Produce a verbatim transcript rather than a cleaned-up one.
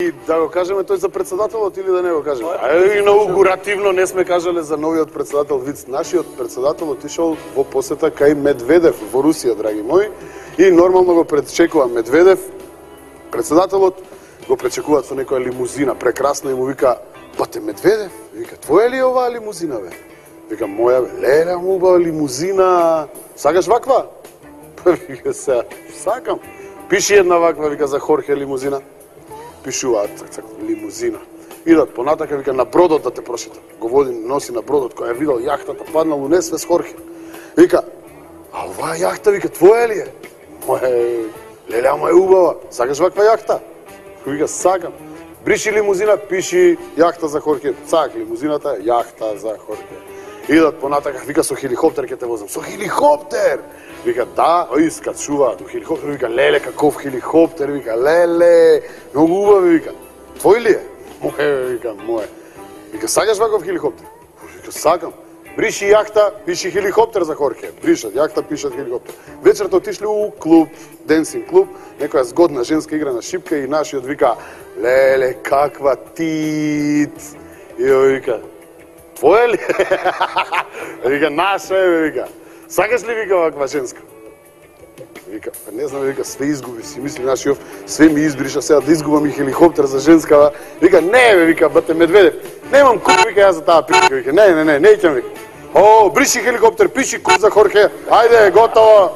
И да го кажеме тој за председателот или да не го кажеме? А инаугуративно не сме кажале за новиот председател Виц. Нашиот председател отишол во посета кај Медведев во Русија, драги мои, и нормално го пречекува Медведев. Председателот го пречекуваат со некоја лимузина, прекрасна, и му вика: "Бате Медведев, вика, твоја ли е оваа лимузина, бе?" Вика: "Моја, бе." "Леле, убава лимузина. Сакаш ваква?" Вика: "Се, сакам." "Пиши една ваква," вика, "за Хорхе лимузина." Пишуваат, цак, цак, лимузина. Идат понатака, вика: "На бродот да те прошета." Го води, носи на бродот, која е видел јахтата паднал у несвес Хорхе. Вика: "А оваа јахта," вика, "твоја ли е?" "Моја, леле, ама е убава. Сакаш ваква јахта?" Вика: "Сакам." "Бриши лимузина, пиши јахта за Хорхе." Цак, лимузината, јахта за Хорхе. Идат понатака, вика: "Со хеликоптер ќе те возам." "Со хеликоптер?" Вика: "Да." Ој скачуваат у хеликоптер, вика: "Леле, каков хеликоптер," вика, "леле, многу убав," вика. "Твој ли е?" "Мој," вика, "мој." Вика: "Сакаш ваков хеликоптер?" Вика: "Сакам." "Бриши јахта, пиши хеликоптер за Хорхе." Бришат јахта, пишат хеликоптер. Вечерта отишли у клуб, денсинг клуб, некоја згодна женска игра на шипка и нашиот вика: "Леле, каква тит." И ој вика: "Твоја ли?" Вика: "Наша е," вика. "Сакаш ли," вика, "ваква женска?" Вика: "Не знам," вика, "све изгуби." Си мисли нашиот: "Све ми избриша, сега да изгубам и хеликоптер за женскава." Вика: "Не, бе," вика, "бате Медведев, немам куп," вика, "ја за таа прилика." Вика: "Не, не, не, не ќам," вика. "О, бриши хеликоптер, пиши куп за Хорхе. Ајде, готово."